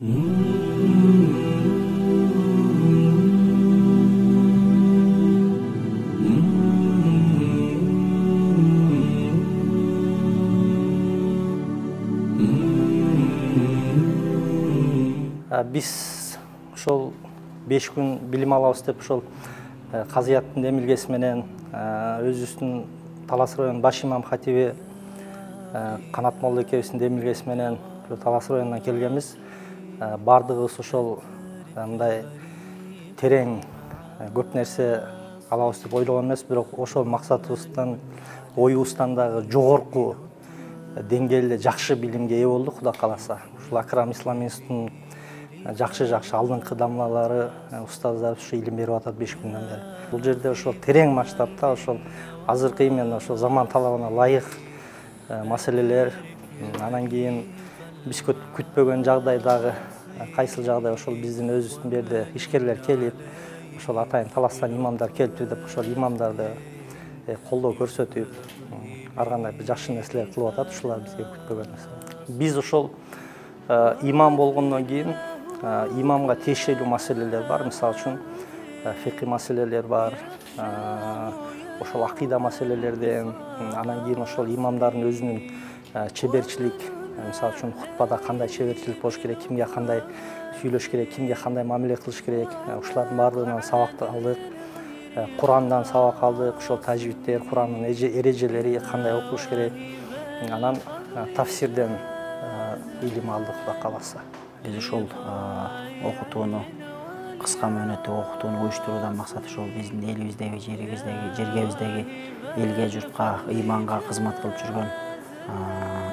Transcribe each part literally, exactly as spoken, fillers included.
Биз ошол беш күн билим алабыз деп ошол казыяттын демилгеси менен өзүбүздүн Талас районунун баш имам хатиби Канат молла экебиздин демилгеси менен Талас районунан келгенбиз. Бардыгыбыз ошол мындай терең көп нерсе алабыз деп ойлогон эмес, бирок ошол максатыбыздан, оюбуздан дагы жогорку деңгээлде жакшы билимге ээ болдук, Кудай кааласа. Ушул Акрам Ислам институтунун жакшы-жакшы алдыңкы дамлалары, устаздар ушу илим берип атат беш күндөн бери. Бул жерде ошол терең масштабта, ошол азыркы именно ошол заман талабына ылайык маселелер, анан кийин биз күтпөгөн жагдайдагы кайсыл жагдай ошол биздин өзүбүздүн берде ишкерлер келип, ошол атайын Таластан имамдар келиптир деп ошол имамдарды колдоо көрсөтүп, ар кандай бир жакшы нерселер кылып атат, ушулар бизге күтпөгөн нерсе. Биз ошол имам болгондон кийин имамга тиешелүү маселелер бар, мисалы үчүн фикый маселелер бар, ошол акыйда маселелерден, анан кийин ошол имамдардын өзүнүн чеберчилик, мисалы үчүн хутбада кандай чеберчилик болуш керек, кимге кандай сүйлөш керек, кимге кандай мамиле кылыш керек, ушулардын баардыгынан сабак алдык. Курандан сабак алдык, ошол тажвидтер, Курандын эрежелери кандай окулуш керек, анан тафсирден илим алдык, Кудай кааласа. Биз ошол окутууну, кыска мөөнөттө окутууну уюштуруудан максат ошол биздин элибиздеги, жерибиздеги, жергебиздеги элге, журтка, ыйманга кызмат кылып жүргөн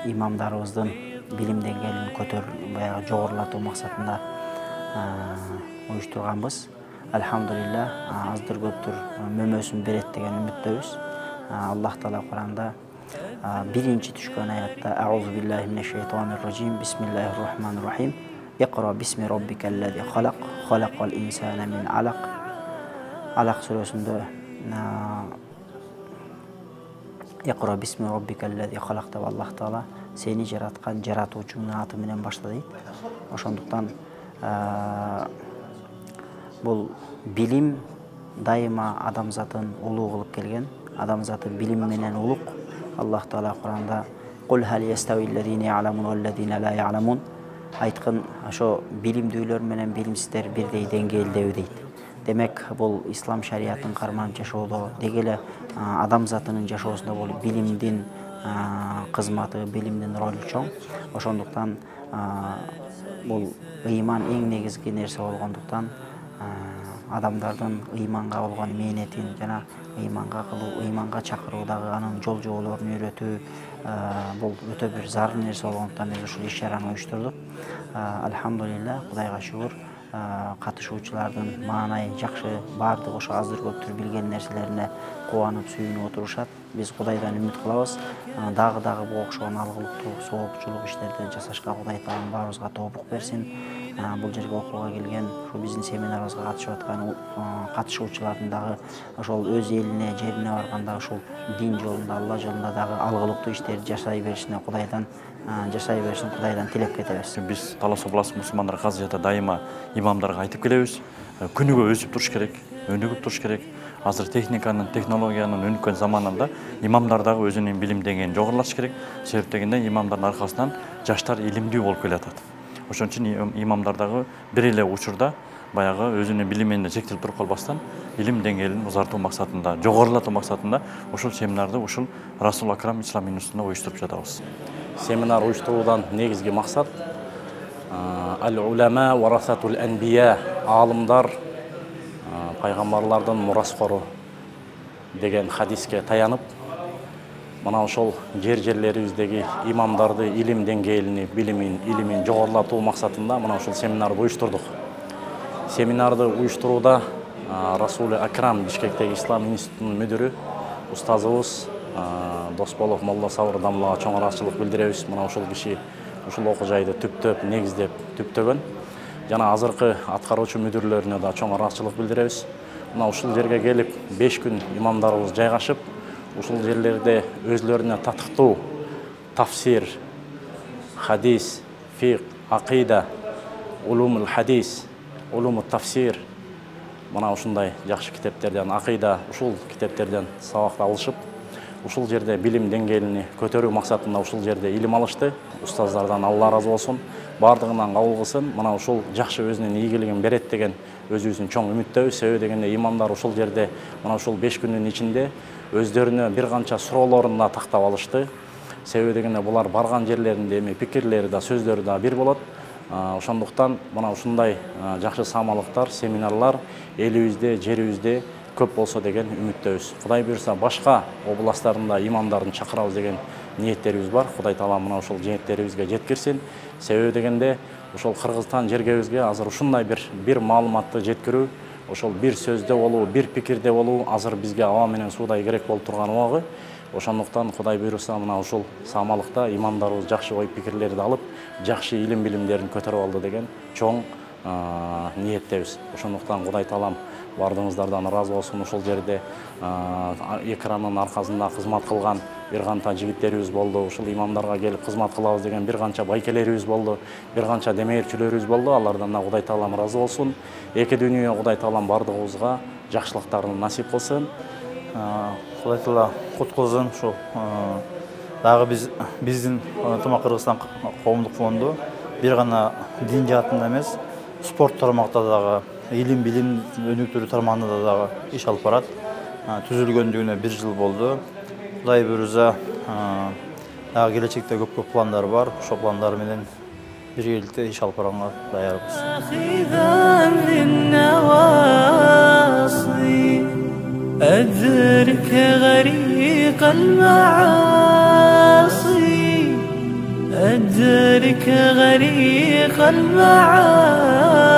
имамдарыбыздын билим деңгээлин көтөрүп, баягы жогорулатуу максатында уюштурганбыз. Алхамдулилла, аздыр көптүр мөмөсүн берет деген үмүттөбүз. Аллах Таала Куранда биринчи түшкөн аятта Аузу биллахи минеш шейтанир раджим, бисмиллахир рахманир рахим. Иqra бисми роббикаллази халак, халакал инсана мин алак. Алак сүрөсүндө Иqra бисми роббикаллази халак деп Аллах Таала сени жараткан жаратуучуңдун аты менен башла дейт. Ошондуктан бул билим дайыма адамзатын улуу кылып келген, адамзаты билим менен улук. Аллах Таала Куранда Кул хал яставиллазина я'ламун валлазина ла я'ламун, айткан ошо билимдүүлөр менен билимсиздер бирдей деңгээлдеби дейт. Демек, бул ислам шариятын карманып жашоодо, деги эле адамзатынын жашоосунда бул билимдин кызматы, билимдин ролу чоң. Ошондуктан бул ыйман эң негизги нерсе болгондуктан адамдардын ыйманга болгон мээнетин жана ыйманга кылуу, ыйманга чакыруудагы анын жол жоболорун үйрөтүү бул өтө бир зарыл нерсе болгондуктан биз ушул иш-чараны уюштурдук. Алхамдулилла, Кудайга шүгүр, катышуучулардын маанайы жакшы, баардыгы ошо аздыр көптүр билген нерселерине кубанып, сүйүнүп отурушат. Биз Кудайдан үмүт кылабыз. Дагы дагы бул окшогон алгылыктуу, соопчулук иштерди жасашка Кудай Таалам баарыбызга тоопук берсин. Бул жерге окууга келген, ушул биздин семинарыбызга катышып аткан катышуучулардын дагы ошол өз элине, жерине барганда ушул дин жолунда, Алла жолунда дагы алгылыктуу иштерди жашай беришине Кудайдан жашай беришин Кудайдан тилеп кетебиз. Биз Талас областык мусулмандар казыята дайыма имамдарга айтып келебиз. Күнүгө өсүп туруш керек, өнүгүп туруш керек. Азыр техниканын, технологиянын өнүккөн заманында имамдар дагы өзүнүн билим деңгээлин жогорулатыш керек. Себеп дегенде имамдардын аркасынан жаштар илимдүү болуп келатат. Ошон үчүн имамдар дагы бир эле учурда баягы өзүнүн билимине чектелип туруп калбастан илим деңгээлин узартуу максатында, жогорулатуу максатында ушул семинарды ушул Расул Акрам Ислам институтунда уюштуруп жатабыз. Семинар уюштуруудан негизги максат ал-улама варасатул анбия, аалымдар пайгамбарлардын мураскору деген хадиске таянып, мына ошол жер жерлерибиздеги имамдарды илим деңгээлини, билимин, илимин жогорулатуу максатында мына ушул семинарды уюштурдук. Семинарды уюштурууда Расул Акрам Бишкектеги Ислам институтунун мүдүрү, устазыбыз Досболов Молла Сабыр дамлага чоң ыраазычылык билдиребиз. Мына ушул киши ушул окуу жайды түптөп, негиздеп, түптөгөн. Жана азыркы аткаруучу мүдүрлөрүнө да чоң ыраазычылык билдиребиз. Мына ушул жерге келип беш күн имамдарыбыз жайгашып, ушул жерлерде өзлөрүнө татыктуу тафсир, хадис, фиq, акыйда улумул хадис, улумул тафсир, мына ушундай жакшы китептерден, акыйда ушул китептерден сабакты алышып, ушул жерде билим деңгээлини көтөрүү максатында ушул жерде илим алышты. Устаздардан Алла разы болсун, бардыгынан кабыл кылсын. Мына ушул жакшы өзүнүн ийгилигин берет деген өзүбүздүн чоң үмүттөбүз. Себеби дегенде имамдар ушул жерде мына ушул беш күндүн ичинде өздөрүнө бир канча суроолорун да тактап алышты. Себеби дегенде булар барган жерлеринде эми пикирлери да, сөздөрү да бир болот. Ошондуктан мына ушундай жакшы самалыктар, семинарлар элибизде, жерибизде көп болсо деген үмүттөбүз. Кудай буйрса башка областтарында имамдарын чакырабыз деген ниеттерибиз бар. Кудай таала мына ушул ниеттерибизге жеткирсин. Себеби дегенде ошол Кыргызстан жергебизге азыр ушундай бир бир маалыматты жеткирүү, ошол бир сөздө болуу, бир пикирде болуу азыр бизге аба менен суудай керек болуп турган убагы. Ошондуктан Кудай буйруса мына ушул самалыкта имамдарыбыз жакшы ой пикирлерди алып, жакшы илим билимдерин көтөрүп алды деген чоң ниеттебиз. Ошондуктан Кудай таалам бардыгыңыздардан ыраазы болсун. Ушул жерде экранын аркасында кызмат кылган бир канча жигиттерибиз болду. Ушул имамдарга келип кызмат кылабыз деген бир канча байкелерибиз болду, бир канча демээрчүлөрүбүз болду. Алардан да Кудай таалам ыраазы болсун. Эки дүйнө Кудай таалам бардыгыбызга жакшылыктарын насип кылсын. Кудай таала кут кылсын. Ушул дагы биз биздин Ынтымак Кыргызстан коомдук фонду бир гана дин жаатында эмес, спорт тармакта дагы, илим билим өнүктүрүү тармагында дагы иш алып барат. Түзүлгөндүгүнө бир жыл болду. Кудай буйруса дагы келечекте көп-көп пландар бар. Ошол пландар менен биргеликте иш алып барганга даярбыз. أدرك غريق المعاصي أدرك غريق المعاصي